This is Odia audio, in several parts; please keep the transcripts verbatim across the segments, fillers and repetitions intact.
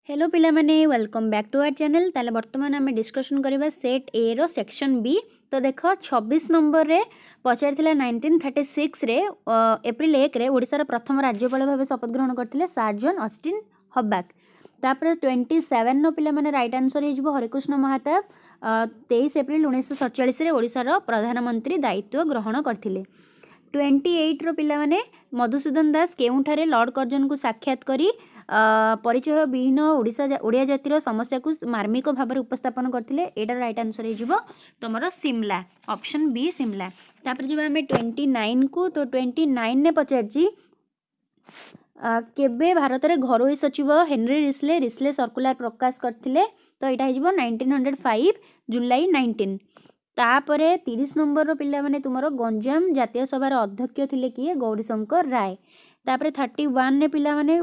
ହ୍ୟାଲୋ ପିଲାମାନେ welcome back to our channel ତାହେଲେ ବର୍ତ୍ତମାନ ଆମେ ଡିସ୍କସନ୍ କରିବା ସେଟ୍ ଏ ର ସେକ୍ସନ୍ ବି ତ ଦେଖ ଛବିଶ ନମ୍ବରରେ ପଚାରିଥିଲା ନାଇନଟିନ୍ ଥାର୍ଟି ସିକ୍ସରେ ଏପ୍ରିଲ ଏକରେ ଓଡ଼ିଶାର ପ୍ରଥମ ରାଜ୍ୟପାଳ ଭାବେ ଶପଥ ଗ୍ରହଣ କରିଥିଲେ ସାର୍ ଜନ୍ ଅଷ୍ଟିନ୍ ହବାକ୍ ତାପରେ ଟ୍ୱେଣ୍ଟି ସେଭେନର ପିଲାମାନେ ରାଇଟ୍ ଆନ୍ସର୍ ହେଇଯିବ ହରେକୃଷ୍ଣ ମହାତାବ ତେଇଶ ଏପ୍ରିଲ ଉଣେଇଶହ ସତଚାଳିଶରେ ଓଡ଼ିଶାର ପ୍ରଧାନମନ୍ତ୍ରୀ ଦାୟିତ୍ୱ ଗ୍ରହଣ କରିଥିଲେ ଟ୍ୱେଣ୍ଟି ଏଇଟ୍ର ପିଲାମାନେ ମଧୁସୂଦନ ଦାସ କେଉଁଠାରେ ଲର୍ଡ଼ କର୍ଜନକୁ ସାକ୍ଷାତ କରି ପରିଚୟ ବିହୀନ ଓଡ଼ିଶା ଓଡ଼ିଆ ଜାତିର ସମସ୍ୟାକୁ ମାର୍ମିକ ଭାବରେ ଉପସ୍ଥାପନ କରିଥିଲେ ଏଇଟାର ରାଇଟ୍ ଆନ୍ସର୍ ହେଇଯିବ ତୁମର ସିମଲା ଅପସନ୍ ବି ସିମଲା ତାପରେ ଯିବା ଆମେ ଟ୍ୱେଣ୍ଟି ନାଇନ୍କୁ ତ ଟ୍ୱେଣ୍ଟି ନାଇନ୍ରେ ପଚାରିଛି କେବେ ଭାରତରେ ଘରୋଇ ସଚିବ ହେନରୀ ରିସ୍ଲେ ରିସ୍ଲେ ସର୍କୁଲାର ପ୍ରକାଶ କରିଥିଲେ ତ ଏଇଟା ହେଇଯିବ nineteen hundred five July nineteen ତାପରେ ତିରିଶ ନମ୍ବରର ପିଲାମାନେ ତୁମର ଗଞ୍ଜାମ ଜାତୀୟ ସଭାର ଅଧ୍ୟକ୍ଷ ଥିଲେ କିଏ ଗୌରୀଶଙ୍କର ରାୟ ତାପରେ ଥାର୍ଟି ୱାନ୍ରେ ପିଲାମାନେ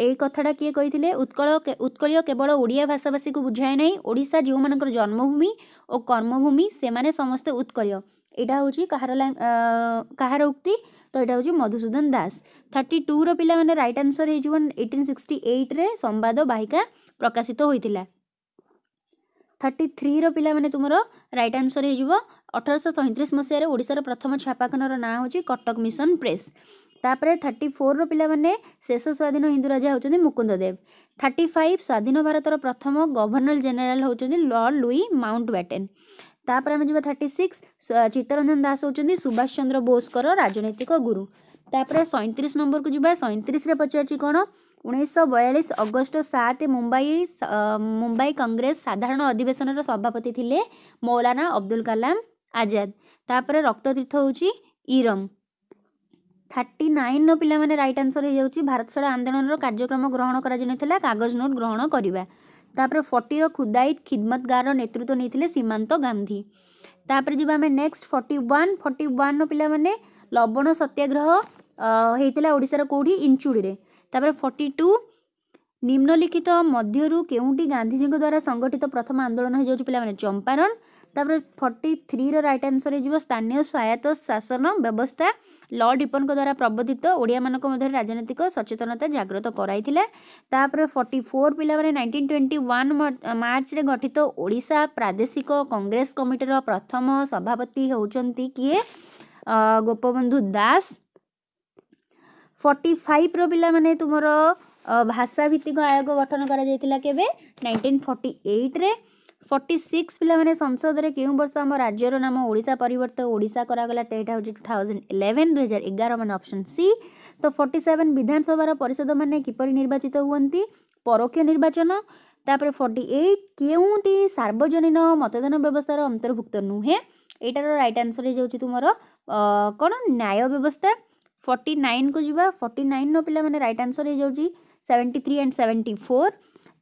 ଏଇ କଥାଟା କିଏ କହିଥିଲେ ଉତ୍କଳ ଉତ୍କଳୀୟ କେବଳ ଓଡ଼ିଆ ଭାଷାଭାଷୀକୁ ବୁଝାଏ ନାହିଁ ଓଡ଼ିଶା ଯେଉଁମାନଙ୍କର ଜନ୍ମଭୂମି ଓ କର୍ମଭୂମି ସେମାନେ ସମସ୍ତେ ଉତ୍କଳୀୟ ଏଇଟା ହେଉଛି କାହାର କାହାର ଉକ୍ତି ତ ଏଇଟା ହେଉଛି ମଧୁସୂଦନ ଦାସ ଥାର୍ଟି ଟୁର ପିଲାମାନେ ରାଇଟ୍ ଆନ୍ସର୍ ହେଇଯିବ ଏଇଟିନ୍ ସିକ୍ସଟି ଏଇଟ୍ରେ ସମ୍ବାଦ ବାହିକା ପ୍ରକାଶିତ ହୋଇଥିଲା ଥାର୍ଟି ଥ୍ରୀର ପିଲାମାନେ ତୁମର ରାଇଟ୍ ଆନ୍ସର୍ ହେଇଯିବ ଅଠରଶହ ସଇଁତିରିଶ ମସିହାରେ ଓଡ଼ିଶାର ପ୍ରଥମ ଛାପାଖାନାର ନାଁ ହେଉଛି କଟକ ମିଶନ ପ୍ରେସ୍ ତାପରେ ଥାର୍ଟି ଫୋର୍ର ପିଲାମାନେ ଶେଷ ସ୍ୱାଧୀନ ହିନ୍ଦୁ ରାଜା ହେଉଛନ୍ତି ମୁକୁନ୍ଦ ଦେବ ଥାର୍ଟି ଫାଇଭ୍ ସ୍ୱାଧୀନ ଭାରତର ପ୍ରଥମ ଗଭର୍ଣ୍ଣର ଜେନେରାଲ ହେଉଛନ୍ତି ଲର୍ଡ଼ ଲୁଇ ମାଉଣ୍ଟ ବ୍ୟାଟେନ୍ ତାପରେ ଆମେ ଯିବା ଥାର୍ଟି ସିକ୍ସ ଚିତ୍ତରଞ୍ଜନ ଦାସ ହେଉଛନ୍ତି ସୁଭାଷ ଚନ୍ଦ୍ର ବୋଷଙ୍କର ରାଜନୈତିକ ଗୁରୁ ତାପରେ ସଇଁତିରିଶ ନମ୍ବରକୁ ଯିବା ସଇଁତିରିଶରେ ପଚାରିଛି କ'ଣ ଉଣେଇଶହ ବୟାଳିଶ ଅଗଷ୍ଟ ସାତ ମୁମ୍ବାଇ ମୁମ୍ବାଇ କଂଗ୍ରେସ ସାଧାରଣ ଅଧିବେଶନର ସଭାପତି ଥିଲେ ମୌଲାନା ଅବଦୁଲ କାଲାମ ଆଜାଦ ତାପରେ ରକ୍ତତୀର୍ଥ ହେଉଛି ଇରମ ଥାର୍ଟି ନାଇନ୍ର ପିଲାମାନେ ରାଇଟ୍ ଆନ୍ସର୍ ହେଇଯାଉଛି ଭାରତ ଛାଡ଼ ଆନ୍ଦୋଳନର କାର୍ଯ୍ୟକ୍ରମ ଗ୍ରହଣ କରାଯାଇନଥିଲା କାଗଜ ନୋଟ୍ ଗ୍ରହଣ କରିବା ତାପରେ ଫର୍ଟିର ଖୁଦାଇ ଖିଦମତଗାରର ନେତୃତ୍ୱ ନେଇଥିଲେ ସୀମାନ୍ତ ଗାନ୍ଧୀ ତାପରେ ଯିବା ଆମେ ନେକ୍ସଟ ଫର୍ଟି ୱାନ୍ ଫର୍ଟି ୱାନ୍ର ପିଲାମାନେ ଲବଣ ସତ୍ୟାଗ୍ରହ ହେଇଥିଲା ଓଡ଼ିଶାର କେଉଁଠି ଇଞ୍ଚୁଡ଼ିରେ ତାପରେ ଫର୍ଟି ଟୁ ନିମ୍ନଲିଖିତ ମଧ୍ୟରୁ କେଉଁଟି ଗାନ୍ଧିଜୀଙ୍କ ଦ୍ୱାରା ସଂଗଠିତ ପ୍ରଥମ ଆନ୍ଦୋଳନ ହେଇଯାଉଛି ପିଲାମାନେ ଚମ୍ପାରଣ ତାପରେ ଫର୍ଟି ଥ୍ରୀର ରାଇଟ୍ ଆନ୍ସର୍ ହେଇଯିବ ସ୍ଥାନୀୟ ସ୍ୱାୟତ୍ତ ଶାସନ ବ୍ୟବସ୍ଥା ଲର୍ଡ଼ ରିପନ୍ଙ୍କ ଦ୍ୱାରା ପ୍ରବର୍ତ୍ତିତ ଓଡ଼ିଆମାନଙ୍କ ମଧ୍ୟରେ ରାଜନୈତିକ ସଚେତନତା ଜାଗ୍ରତ କରାଇଥିଲା ତାପରେ ଫର୍ଟି ଫୋର୍ ପିଲାମାନେ ନାଇନଟିନ୍ ଟ୍ୱେଣ୍ଟି ୱାନ୍ ମାର୍ଚ୍ଚରେ ଗଠିତ ଓଡ଼ିଶା ପ୍ରାଦେଶିକ କଂଗ୍ରେସ କମିଟିର ପ୍ରଥମ ସଭାପତି ହେଉଛନ୍ତି କିଏ ଗୋପବନ୍ଧୁ ଦାସ ଫର୍ଟି ଫାଇଭ୍ର ପିଲାମାନେ ତୁମର ଭାଷା ଭିତ୍ତିକ ଆୟୋଗ ଗଠନ କରାଯାଇଥିଲା କେବେ ନାଇନଟିନ୍ ଫର୍ଟି ଏଇଟ୍ରେ ଫର୍ଟି ସିକ୍ସ ପିଲାମାନେ ସଂସଦରେ କେଉଁ ବର୍ଷ ଆମ ରାଜ୍ୟର ନାମ ଓଡ଼ିଶା ପରିବର୍ତ୍ତେ ଓଡ଼ିଶା କରାଗଲା ଏଇଟା ହେଉଛି ଟୁ ଥାଉଜେଣ୍ଡ ଇଲେଭେନ୍ ଦୁଇହଜାର ଏଗାର ମାନେ ଅପସନ୍ ସି ତ ଫର୍ଟି ସେଭେନ୍ ବିଧାନସଭାର ପରିଷଦମାନେ କିପରି ନିର୍ବାଚିତ ହୁଅନ୍ତି ପରୋକ୍ଷ ନିର୍ବାଚନ ତାପରେ ଫର୍ଟି ଏଇଟ୍ କେଉଁଟି ସାର୍ବଜନୀନ ମତଦାନ ବ୍ୟବସ୍ଥାର ଅନ୍ତର୍ଭୁକ୍ତ ନୁହେଁ ଏଇଟାର ରାଇଟ୍ ଆନ୍ସର୍ ହେଇଯାଉଛି ତୁମର କ'ଣ ନ୍ୟାୟ ବ୍ୟବସ୍ଥା ଫର୍ଟି ନାଇନ୍କୁ ଯିବା ଫର୍ଟି ନାଇନ୍ର ପିଲାମାନେ ରାଇଟ୍ ଆନ୍ସର୍ ହେଇଯାଉଛି seventy three and seventy four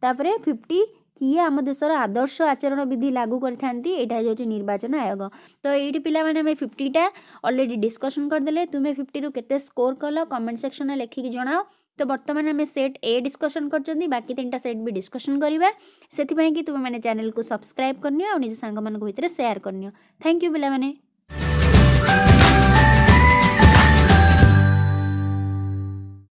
ତାପରେ ଫିଫ୍ଟି କିଏ ଆମ ଦେଶର ଆଦର୍ଶ ଆଚରଣ ବିଧି ଲାଗୁ କରିଥାନ୍ତି ଏଇଟା ହେଇଯାଉଛି ନିର୍ବାଚନ ଆୟୋଗ ତ ଏଇଠି ପିଲାମାନେ ଆମେ ଫିଫ୍ଟିଟା ଅଲରେଡ଼ି ଡିସ୍କସନ୍ କରିଦେଲେ ତୁମେ ଫିଫ୍ଟିରୁ କେତେ ସ୍କୋର କଲ କମେଣ୍ଟ ସେକ୍ସନରେ ଲେଖିକି ଜଣାଅ ତ ବର୍ତ୍ତମାନ ଆମେ ସେଟ୍ ଏ ଡିସ୍କସନ୍ କରିଛନ୍ତି ବାକି ତିନିଟା ସେଟ୍ ବି ଡିସ୍କସନ୍ କରିବା ସେଥିପାଇଁ କି ତୁମେମାନେ ଚ୍ୟାନେଲକୁ ସବସ୍କ୍ରାଇବ୍ କରିନିଅ ଆଉ ନିଜ ସାଙ୍ଗମାନଙ୍କ ଭିତରେ ସେୟାର କରିନିଅ thank you ପିଲାମାନେ